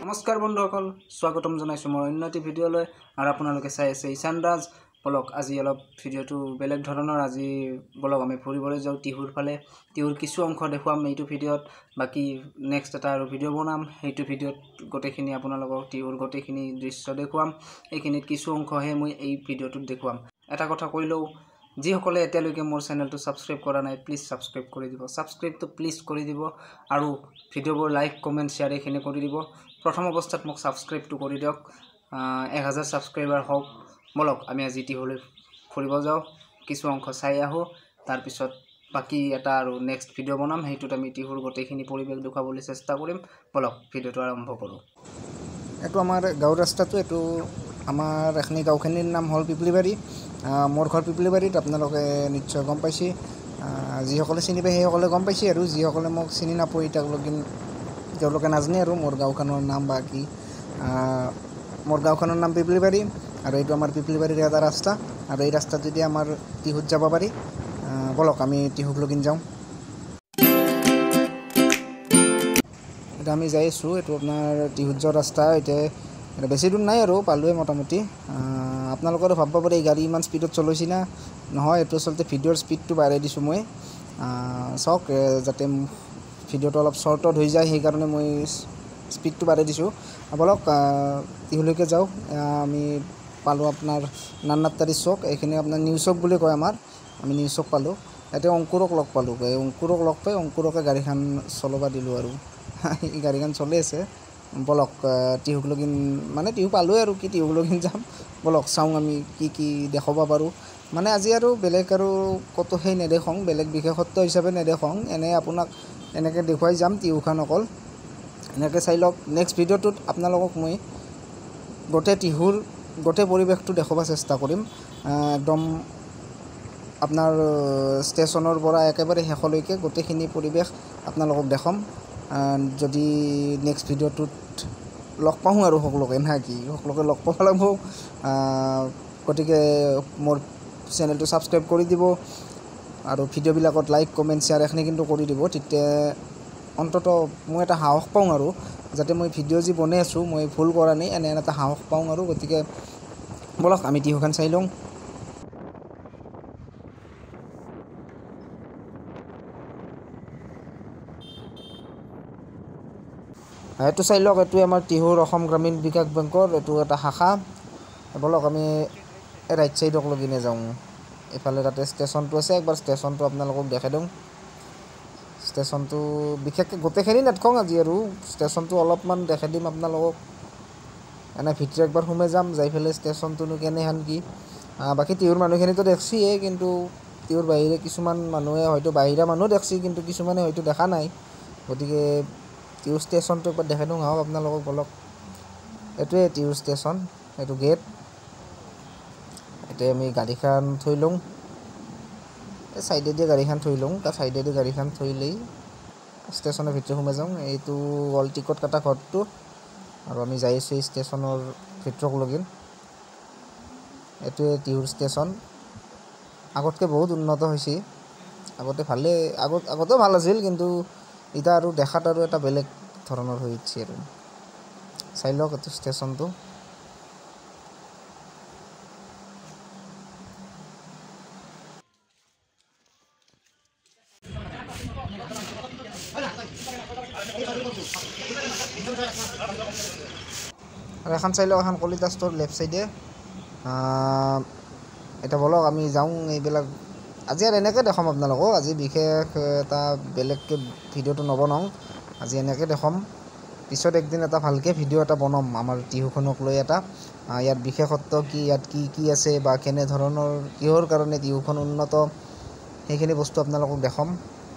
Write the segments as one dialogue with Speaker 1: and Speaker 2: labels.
Speaker 1: নমস্কাৰ বন্ধুসকল, স্বাগতম জনাইছোঁ মোৰ অন্য এটি ভিডিঅ'লৈ। আৰু আপোনালোকে চাই আছে ঈশান ৰাজ। বলক আজি অলপ ভিডিঅ'টো বেলেগ ধৰণৰ। আজি বলক আমি ফুৰিবলৈ যাওঁ টিহুৰ ফালে। টিহুৰ কিছু অংশ দেখুৱাম এইটো ভিডিঅ'ত, বাকী নেক্সট এটা আৰু ভিডিঅ' বনাম। সেইটো ভিডিঅ'ত গোটেইখিনি আপোনালোকক টিহুৰ গোটেইখিনি দৃশ্য দেখুৱাম। এইখিনিত কিছু অংশহে মই এই ভিডিঅ'টোত দেখুৱাম। এটা কথা কৈ লওঁ, যিসকলে এতিয়ালৈকে মোৰ চেনেলটো ছাবস্ক্ৰাইব কৰা নাই, প্লিজ ছাবস্ক্ৰাইব কৰি দিব। ছাবস্ক্ৰাইবটো প্লিজ কৰি দিব আৰু ভিডিঅ'বোৰ লাইক, কমেণ্ট, শ্বেয়াৰ এইখিনি কৰি দিব। প্ৰথম অৱস্থাত মোক ছাবস্ক্ৰাইবটো কৰি দিয়ক, 1000 ছাবস্ক্ৰাইবাৰ হওক। বলক আমি আজি টিহুলৈ ফুৰিব যাওঁ, কিছু অংশ চাই আহোঁ। তাৰপিছত বাকী এটা আৰু নেক্সট ভিডিঅ' বনাম, সেইটোত আমি টিহুৰ গোটেইখিনি পৰিৱেশ দেখুৱাবলৈ চেষ্টা কৰিম। বলক ভিডিঅ'টো আৰম্ভ কৰোঁ।
Speaker 2: এইটো আমাৰ গাঁৱৰ ৰাস্তাটো, এইটো আমাৰ এখিনি গাঁওখিনিৰ নাম হ'ল পিপলিবাৰী। মোৰ ঘৰ পিপলিবাৰীত, আপোনালোকে নিশ্চয় গম পাইছে। যিসকলে চিনি পায় সেইসকলে গম পাইছে, আৰু যিসকলে মোক চিনি নাপায় তেওঁলোকে নাজানে আৰু মোৰ গাঁওখনৰ নাম বা কি। মোৰ গাঁওখনৰ নাম পিপলিবাৰী আৰু এইটো আমাৰ পিপলিবাৰীৰ এটা ৰাস্তা, আৰু এই ৰাস্তাটোদি আমাৰ টিহুত যাব পাৰি। বলক আমি টিহুক লগিন যাওঁ। এতিয়া আমি যাই আছোঁ, এইটো আপোনাৰ টিহুত যোৱা ৰাস্তা। এতিয়া বেছি দূৰ নাই আৰু, পালোঁৱে মোটামুটি। আপোনালোকেও ভাবিব পাৰে এই গাড়ী ইমান স্পীডত চলাইছে না, নহয়, এইটো আচলতে ভিডিঅ'ৰ স্পীডটো বাঢ়াই দিছোঁ মই। চাওক, যাতে ভিডিঅ'টো অলপ শ্বৰ্টত হৈ যায়, সেইকাৰণে মই স্পীডটো বাঢ়াই দিছোঁ। বলক টিহুলৈকে যাওঁ। আমি পালোঁ আপোনাৰ নান্নাত্তাৰী চক, এইখিনি আপোনাৰ নিউ চক বুলি কয় আমাৰ। আমি নিউ চক পালোঁ, ইয়াতে অংকুৰক লগ পালোঁ। এই অংকুৰক লগ পাই অংকুৰকে গাড়ীখন চলাব দিলোঁ আৰু এই গাড়ীখন চলি আছে। বলক টিহুক লগিন, মানে টিহু পালোঁৱে আৰু কি টিহুক লগিন যাম। বলক চাওঁ আমি কি কি দেখুৱাব পাৰোঁ। মানে আজি আৰু বেলেগ আৰু ক'তো সেই নেদেখাওঁ, বেলেগ বিশেষত্ব হিচাপে নেদেখাওঁ, এনেই আপোনাক এনেকৈ দেখুৱাই যাম টিহুখন অকল। এনেকৈ চাই লওক। নেক্সট ভিডিঅ'টোত আপোনালোকক মই গোটেই টিহুৰ গোটেই পৰিৱেশটো দেখুৱাব চেষ্টা কৰিম, একদম আপোনাৰ ষ্টেচনৰ পৰা একেবাৰে শেষলৈকে গোটেইখিনি পৰিৱেশ আপোনালোকক দেখাম। যদি নেক্সট ভিডিঅ'টোত লগ পাওঁ আৰু সকলোকে, না কি সকলোকে লগ পাব লাগিব। গতিকে মোৰ চেনেলটো ছাবস্ক্ৰাইব কৰি দিব আৰু ভিডিঅ'বিলাকত লাইক, কমেণ্ট, শ্বেয়াৰ এইখিনি কিন্তু কৰি দিব। তেতিয়া অন্ততঃ মই এটা সাহস পাওঁ আৰু, যাতে মই ভিডিঅ' যি বনাই আছোঁ মই ভুল কৰা নাই, এনে এটা সাহস পাওঁ আৰু। গতিকে বলক আমি টিহুখন চাই লওঁ। এইটো চাই লওক, এইটো আমাৰ টিহুৰ অসম গ্ৰামীণ বিকাশ বেংকৰ এইটো এটা শাখা। বলক আমি ৰাইট চাইডক লগিনে যাওঁ। এইফালে তাতে ষ্টেচনটো আছে, একবাৰ ষ্টেচনটো আপোনালোকক দেখাই দিওঁ। ষ্টেচনটো বিশেষকৈ গোটেইখিনি নেদেখাওঁ আজি আৰু, ষ্টেচনটো অলপমান দেখাই দিম আপোনালোকক। এনে ভিতৰে একবাৰ সোমাই যাম, যাই পেলাই ষ্টেচনটোনো কেনেহেন কি। বাকী টিহুৰ মানুহখিনিতো দেখছিয়ে, কিন্তু টিহুৰ বাহিৰে কিছুমান মানুহে হয়তো বাহিৰা মানুহ দেখছি, কিন্তু কিছুমানে হয়তো দেখা নাই। গতিকে টিহু ষ্টেচনটো একবাৰ দেখাই দিওঁ আহক আপোনালোকক। বলক, এইটোৱে টিহু ষ্টেচন, এইটো গেট। এতিয়া আমি গাড়ীখন থৈ লওঁ, এই চাইডেদি গাড়ীখন থৈ লওঁ। তাৰ চাইডেদি গাড়ীখন থৈ লৈ ষ্টেচনৰ ভিতৰত সোমাই যাওঁ। এইটো হ'ল টিকট কটা ঘৰটো, আৰু আমি যাই আছোঁ এই ষ্টেচনৰ ভিতৰক লগিন। এইটোৱে টিহুৰ ষ্টেচন। আগতকৈ বহুত উন্নত হৈছে, আগতে ভালেই, আগতেও ভাল আছিল, কিন্তু এতিয়া আৰু দেখাত আৰু এটা বেলেগ ধৰণৰ হৈ উঠিছে আৰু। চাই লওক এইটো ষ্টেচনটো। আৰু এখন চাই লওক, এখন কলিতা ষ্ট'ৰ লেফ্ট চাইডে। এতিয়া বলক আমি যাওঁ। এইবিলাক আজি আৰু এনেকৈ দেখাম আপোনালোকক, আজি বিশেষ এটা বেলেগকৈ ভিডিঅ'টো নবনাওঁ, আজি এনেকৈ দেখাম। পিছত একদিন এটা ভালকৈ ভিডিঅ' এটা বনাম আমাৰ টিহুখনক লৈ এটা, ইয়াত বিশেষত্ব কি, ইয়াত কি কি আছে বা কেনেধৰণৰ কিহৰ কাৰণে টিহুখন উন্নত, সেইখিনি বস্তু আপোনালোকক দেখাম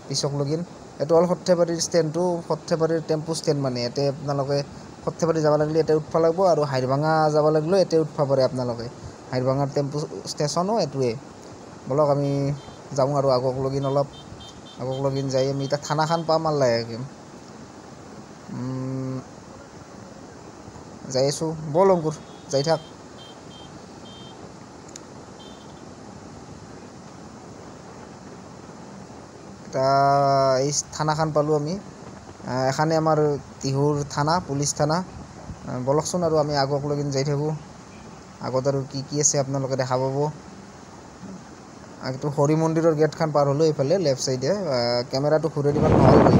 Speaker 2: পিছক লগিন। এইটো হ'ল সৰ্থেবাৰীৰ ষ্টেণ্ডটো, সৰ্থেবাৰীৰ টেম্পু ষ্টেণ্ড। মানে ইয়াতে আপোনালোকে সৰ্থেবাৰী যাব লাগিলে ইয়াতে উঠবা লাগিব, আৰু হাইৰভাঙা যাব লাগিলেও ইয়াতে উঠবা পাৰে আপোনালোকে। হাইৰভাঙাৰ টেম্পু ষ্টেচনো এইটোৱে। বলক আমি যাওঁ আৰু আগক লগিন, অলপ আগক লগিন যাই আমি এতিয়া থানাখন পাম আৰু লাহেকৈ। যাই আছোঁ, ব'ল অংকুৰ যাই থাক। এটা এই থানাখন পালোঁ আমি। এখানে আমাৰ টিহুৰ থানা, পুলিচ থানা। বলকচোন আৰু আমি আগক লগিন যাই থাকোঁ। আগত আৰু কি কি আছে আপোনালোকে দেখা পাব। এইটো হৰি মন্দিৰৰ গেটখন পাৰ হ'লোঁ এইফালে লেফ্ট চাইডে। কেমেৰাটো ঘূৰাই দিব নহ'ল ভালকৈ।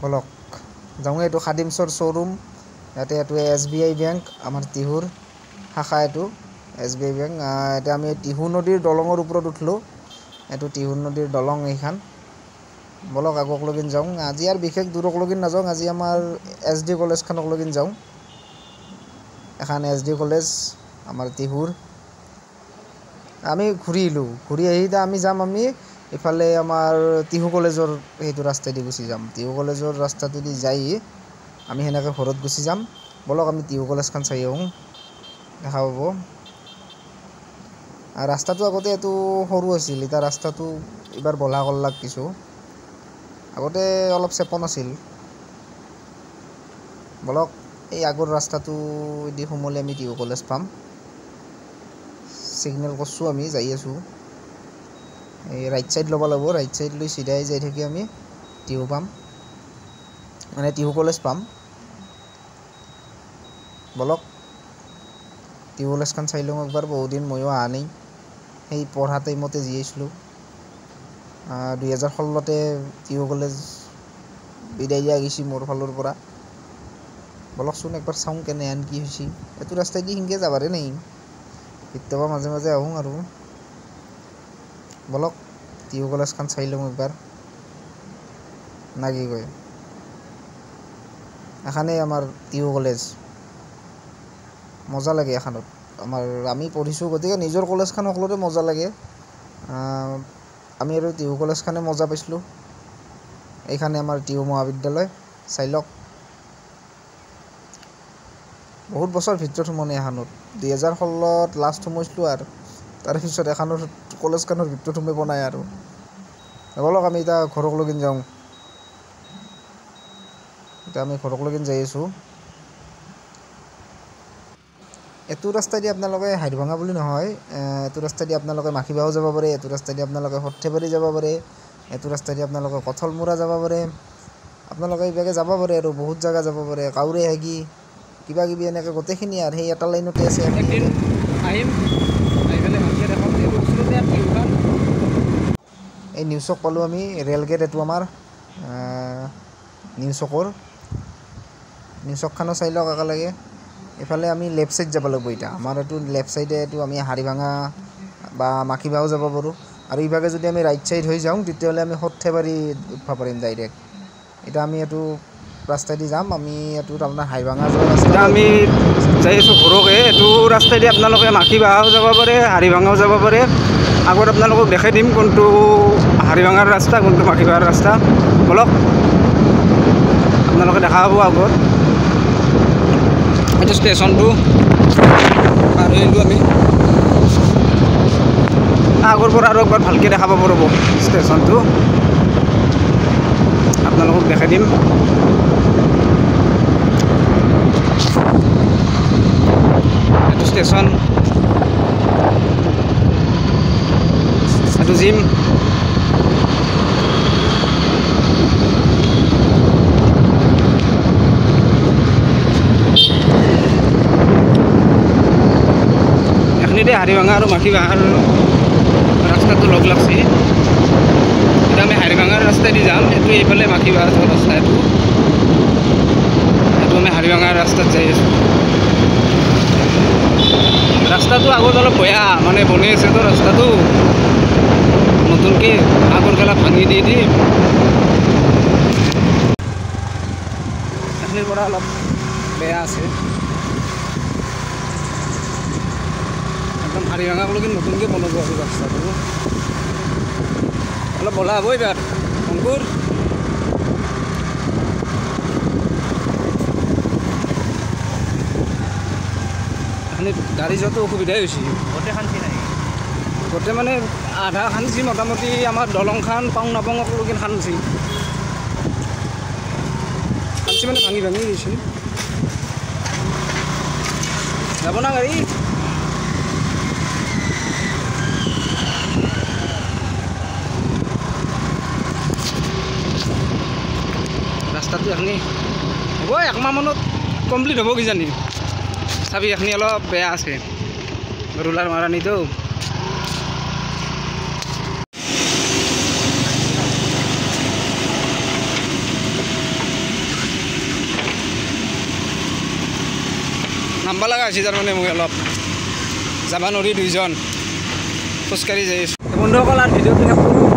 Speaker 2: বলক যাওঁ। এইটো খাদিমছৰ শ্ব'ৰুম, ইয়াতে এইটো এছ বি আই বেংক, আমাৰ টিহুৰ শাখা এইটো এছ বি আই বেংক। এতিয়া আমি টিহু নদীৰ দলঙৰ ওপৰত উঠিলোঁ। এইটো টিহু নদীৰ দলং এইখন। বলক আগক লগিন যাওঁ। আজি আৰু বিশেষ দূৰক লগিন নাযাওঁ, আজি আমাৰ এছ ডি কলেজখনক লগিন যাওঁ। এখন এছ ডি কলেজ আমাৰ টিহুৰ। আমি ঘূৰি আহিলোঁ, ঘূৰি আহি এতিয়া আমি যাম, আমি ইফালে আমাৰ টিহু কলেজৰ সেইটো ৰাস্তাইদি গুচি যাম। টিহু কলেজৰ ৰাস্তাটোদি যাই আমি সেনেকৈ ঘৰত গুচি যাম। বলক আমি টিহু কলেজখন চাই আহোঁ, দেখা পাব। ৰাস্তাটো আগতে এইটো সৰু আছিল, এতিয়া ৰাস্তাটো এইবাৰ বহলা কৰলাক কিছু, আগতে অলপ চেপন আছিল। বলক এই আগৰ ৰাস্তাটোদি সোমালে আমি টিহু কলেজ পাম। চিগনেল কৰিছোঁ, আমি যাই আছোঁ। এই ৰাইট ছাইড ল'ব লাগিব, ৰাইট ছাইড লৈ চিধাই যাই থাকি আমি টিহু পাম, মানে টিহু কলেজ পাম। বলক টিহু কলেজখন চাই লওঁ একবাৰ, বহুদিন ময়ো অহা নাই। সেই পঢ়া টাইমতে যি আহিছিলোঁ 2016তে টিহু কলেজ বিদায় দিয়া গৈছে মোৰ ফালৰ পৰা। বলকচোন একবাৰ চাওঁ কেনেহেন কি হৈছে। এইটো ৰাস্তাইদি সেনেকৈ যাবাৰে নাই, কেতিয়াবা মাজে মাজে আহোঁ আৰু। বলক টিহু কলেজখন চাই লওঁ একবাৰ, না কি কয়। এখানেই আমাৰ টিহু কলেজ, মজা লাগে এখনত। আমাৰ আমি পঢ়িছোঁ, গতিকে নিজৰ কলেজখন সকলোৰে মজা লাগে। আমি আৰু টিহু কলেজখনে মজা পাইছিলোঁ। এইখানে আমাৰ টিহু মহাবিদ্যালয়, চাই লওক। বহুত বছৰ ভিতৰত সোমোৱা নাই এখনত, 2016ত লাষ্ট সোমাইছিলোঁ আৰু তাৰপিছত এখনৰ কলেজখনৰ ভিতৰত সোমাই পোৱা নাই আৰু। বলক আমি এতিয়া ঘৰক লগিন যাওঁ। এতিয়া আমি ঘৰক লগিন যাই আছোঁ। এইটো ৰাস্তাইদি আপোনালোকে হাইৰভাঙা বুলি নহয়, এইটো ৰাস্তাইদি আপোনালোকে মাখিবাও যাব পাৰে, এইটো ৰাস্তাইদি আপোনালোকে সৰ্থেবাৰী যাব পাৰে, এইটো ৰাস্তাইদি আপোনালোকে কঠলমূৰা যাব পাৰে, আপোনালোকে এইভাগে যাব পাৰে আৰু বহুত জেগা যাব পাৰে। কাউৰে হাগি কিবা কিবি এনেকৈ গোটেইখিনি আৰু সেই এটা লাইনতে আছে। এই নিউ চক পালোঁ আমি, ৰেল গেট এইটো আমাৰ নিউ চকৰ। নিউ চকখনো চাই লওক একেলগে। এইফালে আমি লেফ্ট ছাইড যাব লাগিব এতিয়া, আমাৰ এইটো লেফ্ট ছাইডে এইটো আমি হাৰিভাঙা বা মাখিবাও যাব পাৰোঁ। আৰু ইভাগে যদি আমি ৰাইট ছাইড হৈ যাওঁ তেতিয়াহ'লে আমি সৰ্থেবাৰী উঠবা পাৰিম ডাইৰেক্ট। এতিয়া আমি এইটো ৰাস্তাইদি যাম, আমি এইটো আপোনাৰ হাৰিভাঙা যোৱা ৰাস্তা।
Speaker 1: এতিয়া আমি যাই আছোঁ ঘৰকে। এইটো ৰাস্তাইদি আপোনালোকে মাখিবাও যাব পাৰে, হাৰিভাঙাও যাব পাৰে। আগত আপোনালোকক দেখাই দিম কোনটো হাৰিভাঙাৰ ৰাস্তা, কোনটো মাখিবাৰ ৰাস্তা। বলক আপোনালোকে দেখা পাব আগত। এইটো ষ্টেচনটো পাৰ হৈ আহিলোঁ আমি। আগৰ পৰা আৰু একবাৰ ভালকৈ দেখা পাব ৰ'ব ষ্টেচনটো, আপোনালোকক দেখাই দিম। এইটো ষ্টেচন, এইটো জিম। এইখিনিতে হাৰিভাঙা আৰু মাখিবাহাৰ ৰাস্তাটো লগ লাগছে। এতিয়া আমি হাৰিভাঙাৰ ৰাস্তাইদি যাম। এইটো এইফালে মাখিবাহাৰ যোৱা ৰাস্তা, এইটো এইটো আমি হাৰিভাঙাৰ ৰাস্তাত যাই আছোঁ। ৰাস্তাটো আগত অলপ বেয়া, মানে বনাই আছে তো ৰাস্তাটো নতুনকৈ, আগৰ গেলা ভাঙি দি দি। এইখিনিৰ পৰা অলপ বেয়া আছে একদম। হাৰিভাঙাক লগি নতুনকৈ বনাব আৰু ৰাস্তাটো অলপ বলা হ'ব এইবাৰ। অংকুৰ এইখিনিত গাড়ী যোৱাটো অসুবিধাই হৈছে,
Speaker 3: গোটেই শান্তি নাই
Speaker 1: গোটেই, মানে আধা খানছি মোটামুটি। আমাৰ দলংখন পাওঁ নাপাওঁক লগি খানছি খানছি, মানে ভাঙি ভাঙি গৈছে। যাব না গাড়ী। ৰাস্তাটো এখনি হ'ব একমাহ মানত কমপ্লিট হ'ব কিজানি। চাবি এখনি অলপ বেয়া আছে, ৰোলাৰ মাৰা নাইতো। নাম্বা লগা হৈছে তাৰমানে, মই অলপ যাব নোৱাৰি, দুইজন খোজকাঢ়ি যাই আছোঁ। বন্ধুসকল, আৰু ভিডিঅ'টো শেষ কৰোঁ।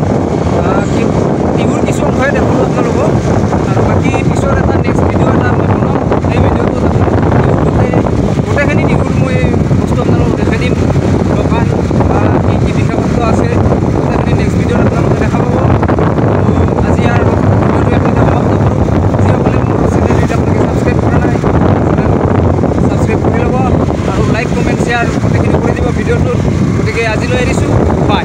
Speaker 1: টিহুৰ কিছু অংশই দেখোঁ আপোনালোকক, আৰু বাকী পিছৰ এটা নেক্সট ভিডিঅ' এটা মই বনাম। সেই ভিডিঅ'টোত গোটেইখিনি টিহুৰ মই বস্তু আপোনালোকক দেখাই দিম, দোকান বা কি কি বিশেষত্ব আছে গোটেইখিনি নেক্সট ভিডিঅ'ত আপোনালোকে দেখা পাব। আজি আৰু ভিডিঅ'টো এইখিনিতে সমাপ্ত কৰোঁ। যিসকলে মোৰ চেনেল এতিয়ালৈকে ছাবস্ক্ৰাইব কৰা নাই, ছাবস্ক্ৰাইব কৰি ল'ব আৰু লাইক, কমেণ্ট, শ্বেয়াৰ গোটেইখিনি কৰি দিব ভিডিঅ'টোত। গতিকে আজিলৈ এৰিছোঁ, বাই।